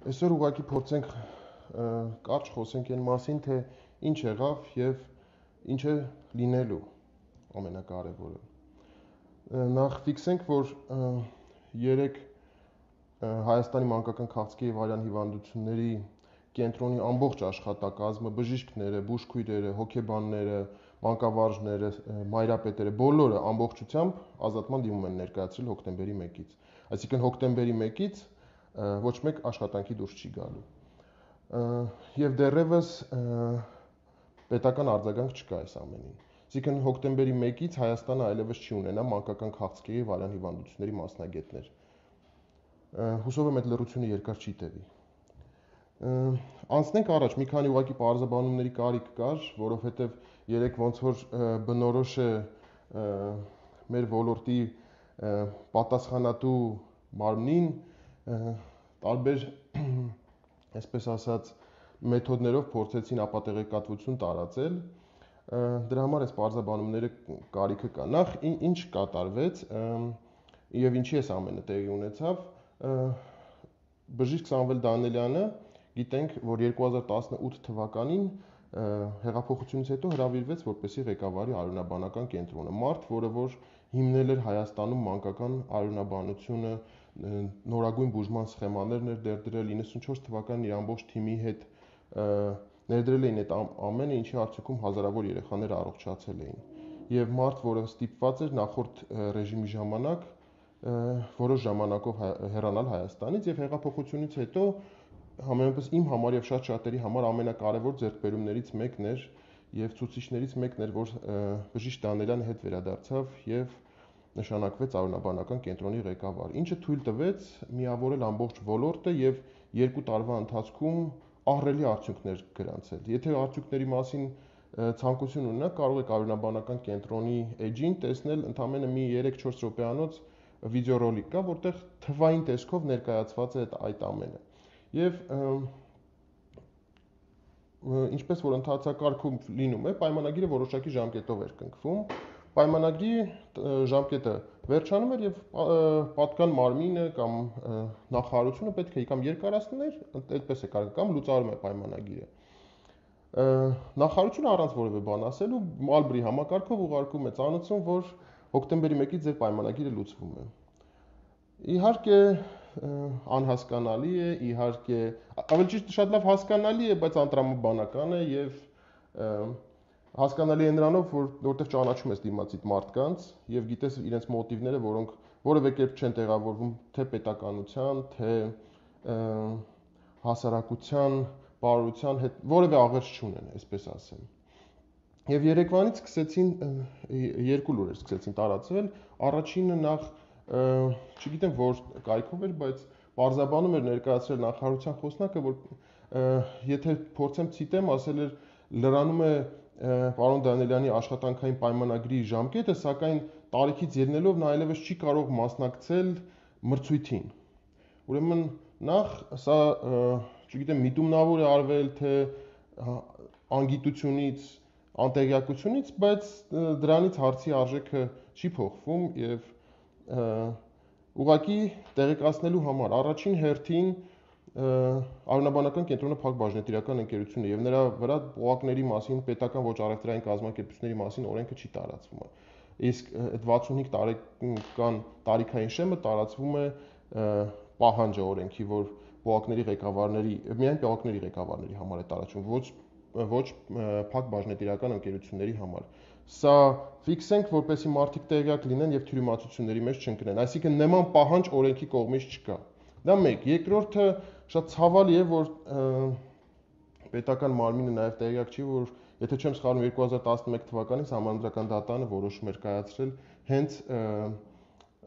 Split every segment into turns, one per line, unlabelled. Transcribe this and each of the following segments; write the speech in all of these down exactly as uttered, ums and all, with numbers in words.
Այսօր ուղղակի փորձենք կարճ խոսենք այն մասին, թե ինչ եղավ եւ ինչ է լինելու ամենակարևորը։ Նախ ֆիքսենք, որ երեք Հայաստանի մանկական քաղցկեղի եւ արյան հիվանդությունների կենտրոնի ամբողջ աշխատակազմը, բժիշկները, բուժքույրերը, հոգեբանները, մանկավարժները, մայրապետերը, բոլորը ամբողջությամբ ազատման դիմում են ներկայացրել հոկտեմբերի մեկից։ Այսինքն հոկտեմբերի մեկից ոչ մեկ աշխատանքի դուրս չի գալու։ Եվ դեռևս պետական արձագանք չկա այս ամենին։ Այսինքն հոկտեմբերի մեկից Հայաստանը այլևս չի ունենա մանկական քաղցկեղի եւ արյան հիվանդությունների մասնագետներ։ Հուսով եմ այդ լռությունը երկար չի տևի։ Անցնենք առաջ, մի քանի ուղղակի պարզաբանումների կարիք կար, որովհետև երեք ոնց որ բնորոշ է մեր ոլորտի պատասխանատու մարմնին տարբեր, այսպես ասած, մեթոդներով փորձեցին ապատեղեկատվություն տարածել։ Դրա համար այս պարզաբանումները կարիքը կա։ Նախ ինչ կատարվեց եւ ինչի էս ամենը տեղի ունեցավ։ Բժիշկ Սամվել Դանելյանը գիտենք, որ երկու հազար տասնութ թվականին հեղափոխությունից հետո հրավիրվեց որպեսզի ղեկավարի արյունաբանական կենտրոնը, մարդ, որը որ հիմնել էր Հայաստանում մանկական արյունաբանությունը, նորագույն բուժման սխեմաներ ներդրել, իննսունչորս թվականին իր ամբողջ թիմի հետ ներդրել էին այդ ամենը, ինչի արդյունքում հազարավոր երեխաներ առողջացել էին։ Եվ մարդ, որը ստիպված էր նախորդ ռեժիմի ժամանակ որոշ ժամանակով հեռանալ Հայաստանից եւ հեղափոխությունից հետո համենայնպես իմ համար եւ շատ շատերի համար ամենակարևոր ձեռքբերումներից մեկն էր եւ ցուցիչներից մեկն էր, որ բժիշկ Դանելյանը հետ վերադարձավ եւ նշանակվեց արյունաբանական կենտրոնի ղեկավար, ինչը թույլ տվեց միավորել ամբողջ ոլորտը եւ երկու տարվա ընթացքում ահռելի արդյունքներ գրանցել։ Եթե արդյունքների մասին ցանկություն ունենաք, կարող եք արյունաբանական կենտրոնի էջին տեսնել ընդամենը մի երեք-չորս րոպեանոց վիդեոռոլիկ կա, որտեղ թվային տեսքով ներկայացված է այդ ամենը։ Եվ ինչպես որ ընթացակարգում լինում է, պայմանագիրը որոշակի ժամկետով էր կնքվում։ Պայմանագրի ժամկետը վերջանում էր եւ պատկան մարմինը կամ նախարարությունը պետք է կամ երկարացներ, այդպես է կարող, կամ լուծարում է պայմանագիրը։ Նախարարությունը առանց որևէ բան ասելու Մալբրի համակարգով ուղարկում է ծանուցում, որ հոկտեմբերի մեկից ձեր պայմանագիրը լուծվում է։ Իհարկե անհասկանալի է, իհարկե ավելի ճիշտ շատ լավ հասկանալի է, բայց անտրամաբանական է եւ հասկանալի է նրանով, որ որտեղ ճանաչում ես դիմացիդ մարդկանց եւ գիտես իրենց մոտիվները, որոնք որևէ կերպ չեն տեղավորվում թե պետականության, թե հասարակության, բարօրության հետ որևէ աղերս չունեն, այսպես ասեմ։ Եվ Երևանից սկսեցին երկու լուրեր սկսեցին տարածվել, առաջինը նախ չգիտեմ որ կայքով էր, բայց պարզաբանում էր ներկայացրել նախարարության խոսնակը, որ եթե փորձեմ ցիտեմ, ասել էր լրանում է պարոն Դանելյանի աշխատանքային պայմանագրի ժամկետը, սակայն տարիքից ելնելով նա այլևս չի կարող մասնակցել մրցույթին։ Ուրեմն նախ սա, չգիտեմ, միտումնավոր է արվել, թե անգիտությունից, անտեղյակությունից, բայց դրանից հարցի արժեքը չի փոխվում եւ ուղղակի տեղեկացնելու համար առաջին հերթին արյունաբանական կենտրոնը փակ բաժնետիրական ընկերություն է եւ նրա վրա օղակների մասին, պետական ոչ առևտրային կազմակերպությունների մասին օրենքը չի տարածվում։ Իսկ այդ վաթսունհինգ տարեկան տարիքային շեմը տարածվում է պահանջը օրենքի, որ օղակների ղեկավարների, միայն օղակների ղեկավարների համար է տարածվում, ոչ ոչ փակ բաժնետիրական ընկերությունների համար։ Սա ֆիքսենք, որպեսզի մարդիկ տեղյակ լինեն եւ թյուրիմացությունների մեջ չընկնեն։ Այսինքն նման պահանջ օրենքի կողմից չկա։ Դա մեկ, երկրորդը շատ ցավալի է, որ պետական մարմինը նաեւ տեղյակ չի, որ եթե չեմ սխալվում երկու հազար տասնմեկ թվականին Սահմանադրական դատարանը որոշում էր կայացրել հենց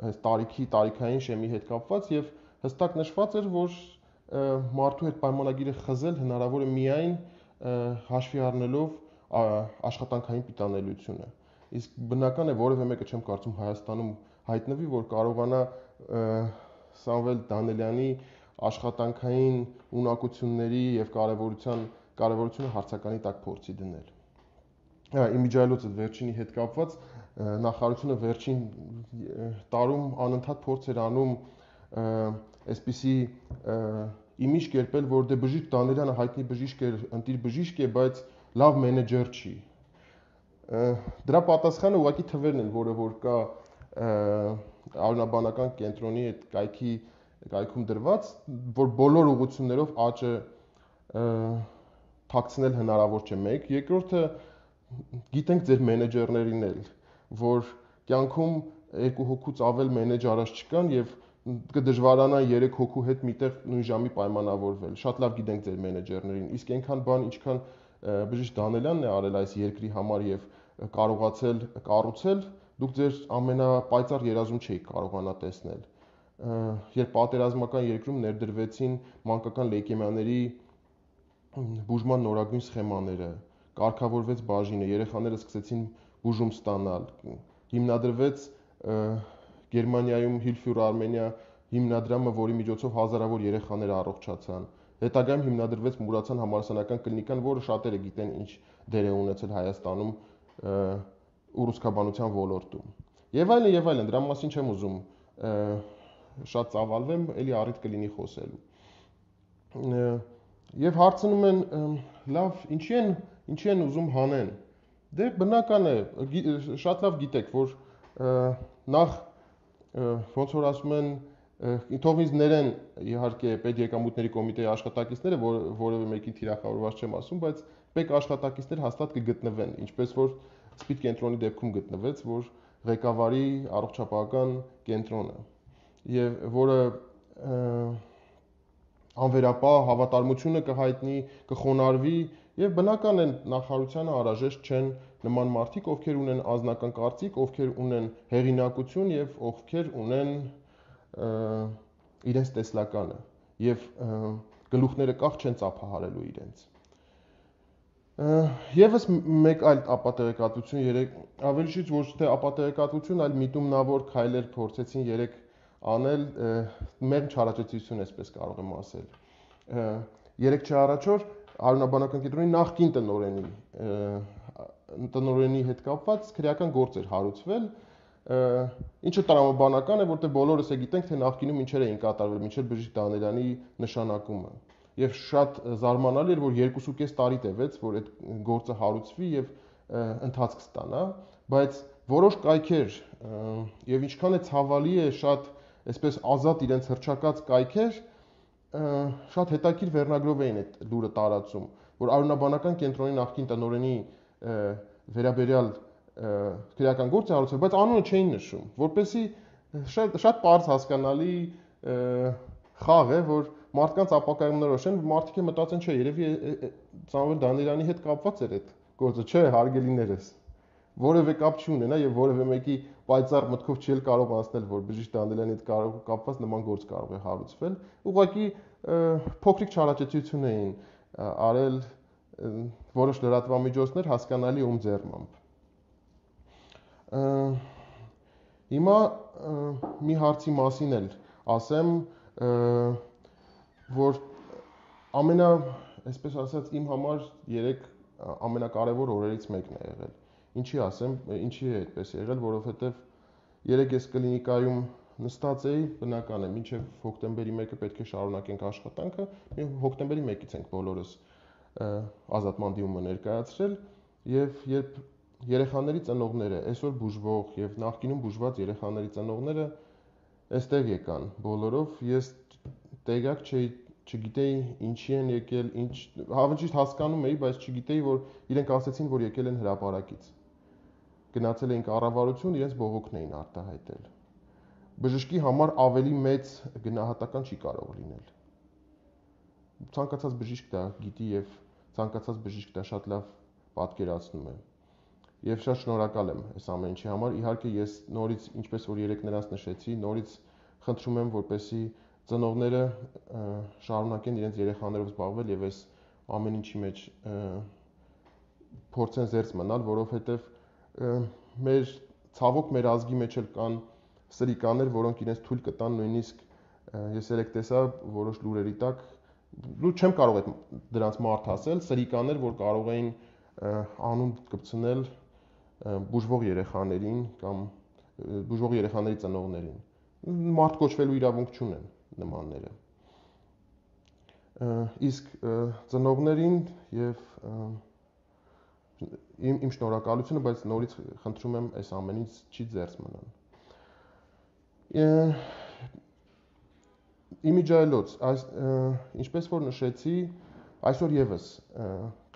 այս տարիքի տարիքային շեմի հետ կապված եւ հստակ նշված էր, որ մարդու հետ պայմանագիրը խզել հնարավոր է միայն հաշվի առնելով աշխատանքային պիտանելիությունը։ Իսկ բնական է որևէ մեկը չեմ կարծում Հայաստանում հայտնվի, որ կարողանա Սամվել Դանելյանի աշխատանքային ունակությունների եւ կարեւորության կարեւորությունը հարցականի տակ փորձի դնել։ Իմիջիայլոց այդ վերջինի հետ կապված նախարարությունը վերջին տարում անընդհատ փորձ էր անում այսպիսի իմիջ կերպել, որ դե Բժիշկ Դանիելյանը հայտնի բժիշկ էր, ընտիր բժիշկ է, բայց լավ մենեջեր չի։ Դրա պատասխանը ուղղակի թվերն են, որը որ կա Արյունաբանական կենտրոնի այդ կայքի կայքում դրված, որ բոլոր ուղղություններով աճը թաքցնել հնարավոր չէ մեկ, երկրորդը գիտենք ձեր մենեջերներին էլ, որ կյանքում երկու հոգուց ավել մենեջ առաջ չկան եւ կդժվարանա երեք հոգու հետ միտեղ նույն ժամի պայմանավորվել։ Շատ լավ գիտենք ձեր մենեջերներին, իսկ այնքան բան, ինչքան Բժիշկ Դանիելյանն է արել այս երկրի համար եւ կարողացել կառուցել, դուք ձեր ամենապայծառ երազում չէիք կարողանա տեսնել։ Երբ պատերազմական երկրում ներդրվեցին մանկական լեյկեմիաների բուժման նորագույն սխեմաները, կարգավորվեց բաժինը, երեխաները սկսեցին բուժում ստանալ, հիմնադրվեց Գերմանիայում Hilfe Armenia հիմնադրամը, որի միջոցով հազարավոր երեխաներ առողջացան։ Հետագայում հիմնադրվեց Մուրացյան համալսարանական կլինիկան, որը շատերը գիտեն ինչ դեր է ունեցել Հայաստանում ուռուցքաբանության ոլորտում։ Եվ այլն, եւ այլն, դրա մասին չեմ ուզում շատ ծավալվեմ, ելի առիթ կլինի խոսելու։ Եվ հարցնում են, լավ, ինչի են, ինչի են ուզում հանեն։ Դե բնական է, շատ լավ գիտեք, որ նախ ոնց որ ասում են, թող ինձ ներեն իհարկե պետեկամուտների կոմիտեի աշխատակիցները, որ որևէ մեկին թիրախավորված չեմ ասում, բայց պետք աշխատակիցներ հաստատ կգտնվեն, ինչպես որ Սպիդ կենտրոնի դեպքում գտնվեց, որ ղեկավարի առողջապահական կենտրոնը, եւ որը անվերապահ հավատարմությունը կհայտնի, կխոնարհվի, եւ բնական է նախարարությանը անհրաժեշտ չեն նման մարդիկ, ովքեր ունեն անձնական կարծիք, ովքեր ունեն հեղինակություն եւ ովքեր ունեն իրենց տեսլականը եւ գլուխները կախ չեն ծափահարելու իրենց։ Եվս մեկ այլ ապատեղեկատվություն երեք ավելի շուտ ոչ թե ապատեղեկատվություն, այլ միտումնավոր քայլեր փորձեցին երեք անել մեր չարաճճիություն, այսպես կարող եմ ասել։ Երեք չէ առաջօր Արյունաբանական կենտրոնի նախկին տնօրենի տնօրենի հետ կապված քրեական գործ էր հարուցվել, ինչը տրամաբանական է, որտեղ բոլորս է գիտենք, թե նախկինում ինչեր էին կատարվել մինչև Բժիշկ Դանիելյանի նշանակումը։ Եվ շատ զարմանալի էր, որ երկուսուկես տարի տևեց, որ այդ գործը հարուցվի եւ ընթացք ստանա, բայց որոշ կայքեր եւ ինչքան է ցավալի է շատ այսպես ազատ իրենց հրճակած կայքեր շատ հետաքրքիր վերնագրով էին այդ լուրը տարածում, որ Արյունաբանական կենտրոնի նախկին տնօրենի վերաբերյալ քրեական գործ է հարուցվել, բայց անունը չէին նշում, որպեսզի շատ շատ པարզ հասկանալի խաղ է, որ մարդկանց ապակայումներոշ են, մարդիկ մտածեն, չէ, երևի Սամվել Դանիելյանի հետ կապված էր այդ գործը, չէ, հարգելիներս, որևէ կապ չունենա եւ որևէ մեկի պայծառ մտքով չի կարող անցնել, որ Բժիշկ Դանիելյանի հետ կարող կապված նման գործ կարող է հարուցվել, ուղղակի փոքրիկ չարաճճիություն էին արել որոշ լրատվամիջոցներ հասկանալի ում ձեռամբ։ Հիմա մի հարցի մասին էլ ասեմ, որ ամենա, այսպես ասած, իմ համար երեք ամենակարևոր օրերից մեկն է եղել։ Ինչի ասեմ, ինչի է այդպես եղել, որովհետև երեք ես կլինիկայում նստած էի, բնական է, մինչև հոկտեմբերի մեկը պետք է շարունակենք աշխատանքը, հոկտեմբերի մեկից ենք բոլորս ազատման դիմումը ներկայացրել, եւ երբ երեխաների ծնողները, այսօր բուժվող եւ նախկինում բուժված երեխաների ծնողները այստեղ եկան բոլորով, ես տեղյակ չէի, չգիտեի ինչի են եկել, ինչ, հավանաբար հասկանում էի, բայց չգիտեի, որ իրենք ասեցին, որ եկել են հրապարակից։ Գնացել էին կառավարություն, իրենց բողոքն էին արտահայտել։ Բժշկի համար ավելի մեծ գնահատական չի կարող լինել։ Ցանկացած բժիշկ դա գիտի եւ ցանկացած բժիշկ դա շատ լավ պատկերացնում է։ Եվ շատ շնորհակալ եմ այս ամեն ինչի համար։ Իհարկե ես նորից, ինչպես որ երեք նրանց նշեցի, նորից խնդրում եմ, որպեսզի ծնողները շարունակեն իրենց երեխաներով զբաղվել եւ այս ամեն ինչի մեջ փորձեն զերծ մնալ, որովհետեւ մեր ցավոք մեր ազգի մեջ էլ կան սրիկաներ, որոնք իրենց թույլ կտան նույնիսկ ես երեք տեսա որոշ լուրերի տակ, լու չեմ կարող այդ դրանց մարդ ասել, սրիկաներ, որ կարող էին անուն կպցնել բուժվող երեխաներին կամ բուժվող երեխաների ծնողներին։ Մարդ կոչվելու իրավունք չունեն նմանները։ Իսկ ծնողներին եւ իմ իմ շնորհակալությունը, բայց նորից խնդրում եմ այս ամենից չի ձերծ մնան։ Իմիջայլոց, այս ինչպես որ նշեցի, այսօր եւս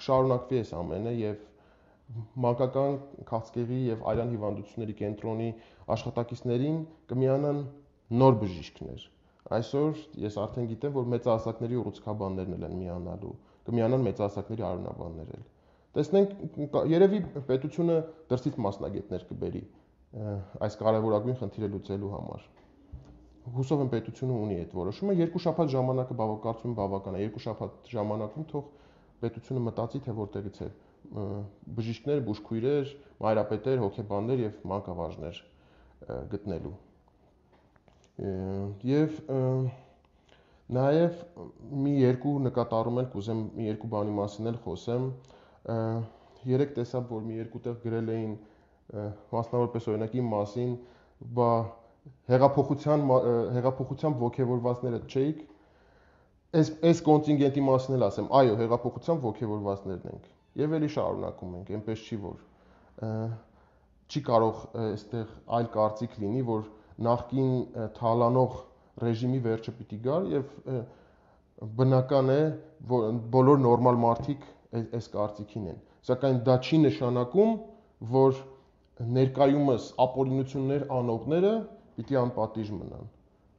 կշարունակվի այս ամենը եւ մանկական քաղցկեղի եւ արյան հիվանդությունների կենտրոնի աշխատակիցներին կմիանան նոր բժիշկներ։ Այսօր ես արդեն գիտեմ, որ մեծահասակների ուռուցքաբաններն են միանալու, կմիանան մեծահասակների արյունաբաններ էլ։ Տեսնենք, երևի պետությունը դրսից մասնագետներ կբերի այս կարևորագույն խնդիրը լուծելու համար։ Հուսով եմ պետությունը ունի այդ որոշումը, երկու շաբաթ ժամանակը բավականացում բավական է, երկու շաբաթ ժամանակում թող պետությունը մտածի, թե որտեղից է բժիշկներ, բուժքույրեր, մայրապետեր, հոգեբաններ եւ մանկավարժներ գտնելու։ Եվ նաեւ մի երկու նկատառում էլ կուզեմ մի երկու բանի մասին էլ խոսեմ։ Երեք տեսա, որ մի երկու տեղ գրել էին մասնավորապես օրինակի մասին, բա հեղափոխության հեղափոխությամբ ոգևորվածները չէիք։ Այս այս կոնտինգենտի մասին էլ ասեմ, այո, հեղափոխությամբ ոգևորվածներն ենք։ Եվ էլի շարունակում ենք, այնպես չի որ չի կարող այստեղ այլ կարծիք լինի, որ նախկին թալանող ռեժիմի վերջը պիտի գա եւ բնական է, որ բոլոր նորմալ մարդիկ այս կարծիքին են։ Սակայն դա չի նշանակում, որ ներկայումս ապօրինություններ անողները պիտի անպատիժ մնան։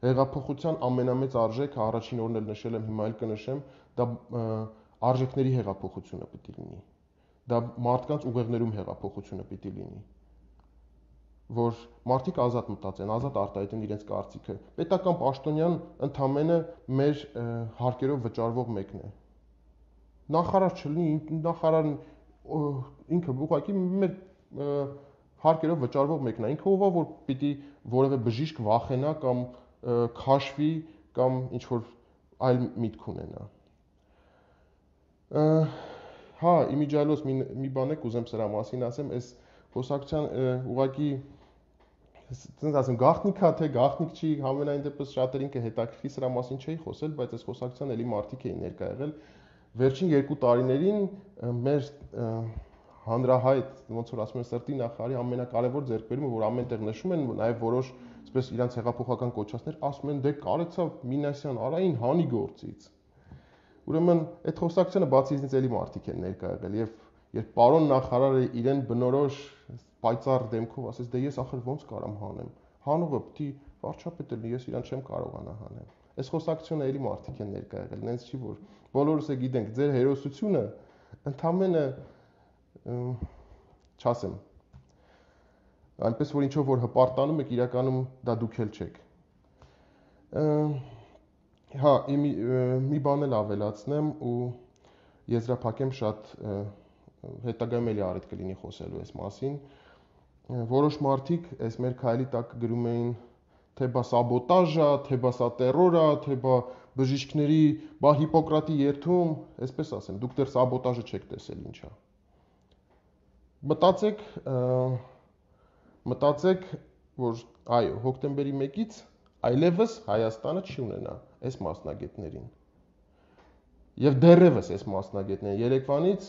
Հեղափոխության ամենամեծ արժեքը առաջին օրն էլ նշել եմ, հիմա էլ կնշեմ, դա արժեքների հեղափոխությունը պիտի լինի։ Դա մարդկանց ուղեղներում հեղափոխությունը պիտի լինի, որ մարդիկ ազատ մտածեն, ազատ արտահայտեն իրենց կարծիքը։ Պետական պաշտոնյան ընդամենը մեր հարկերով վճարվող մեկն է։ Նախարար չլինի, նախարարն ինքը ուղղակի մեր հարկերով վճարվող մեկն է։ Ինքը ով է, որ պիտի որևէ բժիշկ վախենա կամ քաշվի կամ ինչ որ այլ միտք ունենա։ Հա, իմիջայլոց մի մի բան է կուզեմ սրա մասին ասեմ, այս խոսակցության ուղղակի ասենց ասեմ գաղտնիքա թե գաղտնիք չի, համենայն դեպս շատերին կհետաքրքրի սրա մասին չէի խոսել, բայց այս խոսակցության էլի մարդիկ էին ներկա եղել։ Վերջին երկու տարիներին մեր հանրահայտ, ոնց որ ասում են, սրտի նախարարի ամենակարևոր ձեռքբերումը, որ ամենտեղ նշում են, նաև որոշ, այսպես իրանց հեղափոխական կոչածներ ասում են, դե կարեցավ Մինասյան Արային հանի գործից։ Ուրեմն այդ խոսակցությունը բացի ինձ էլի մարդիկ են ներկա եղել եւ երբ պարոն նախարարը իրեն բնորոշ պայծառ դեմքով ասեց, դե ես ախր ոնց կարամ հանեմ։ Հանողը պիտի վարչապետ լինի, ես իրան չեմ կարողանա հանեմ։ Այս խոսակցությունը էլի մարդիկ են ներկա եղել, նենց չի որ բոլորս է գիտենք, ձեր հերոսությունը ընդամենը չասեմ, այնպես որ ինչով որ հպարտանում եք, իրականում դա դուք էլ չեք։ Հա, մի բան էլ ավելացնեմ ու եզրափակեմ շատ հետագայում էլի առիթ կլինի խոսելու այս մասին։ Որոշ մարդիկ այս մեր քայլի տակ գրում էին, թե բա սաբոտաժ է, թե բա սա տերոր է, թե բա բժիշկների, բա Հիպոկրատի երթում, այսպես ասեմ, դուք դեռ սաբոտաժը չեք տեսել ինչ է։ Մտածեք, մտածեք, որ այո, հոկտեմբերի մեկից այլևս Հայաստանը չի ունենա այս մասնագետներին։ Եվ դեռևս այս մասնագետներին երեկվանից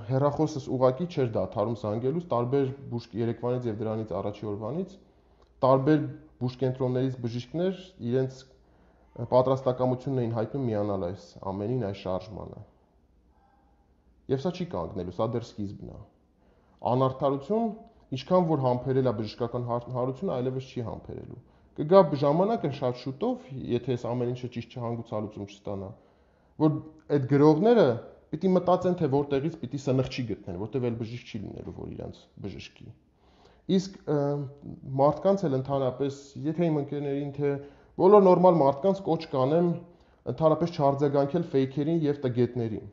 հեռախոսս ուղակի չէր դադարում զանգելուց, տարբեր բուժ երեկվանից եւ դրանից առաջի օրվանից տարբեր բուժկենտրոններից բժիշկներ իրենց պատրաստակամությունն էին հայտնում միանալ այս ամենին, այս շարժմանը։ Եվ սա չի կանգնելու, սա դեռ սկիզբն է։ Անարդարություն, ինչքան որ համբերել է բժշկական հանրությունը, այլևս չի համբերելու։ Կգա ժամանակը շատ շուտով, եթե այս ամեն ինչը ճիշտ չհանգուցալուծում չստանա, որ այդ գրողները պիտի մտածեն, թե որտեղից պիտի սնխչի գտնեն, որտեղ էլ բժիշկ չի լինելու, որ իրանց բժշկի։ Իսկ մարդկանց էլ ընդհանրապես, եթե իմ ընկերներին, թե բոլոր նորմալ մարդկանց կոչ կանեմ ընդհանրապես չարձագանքել ֆեյքերին եւ տգետներին։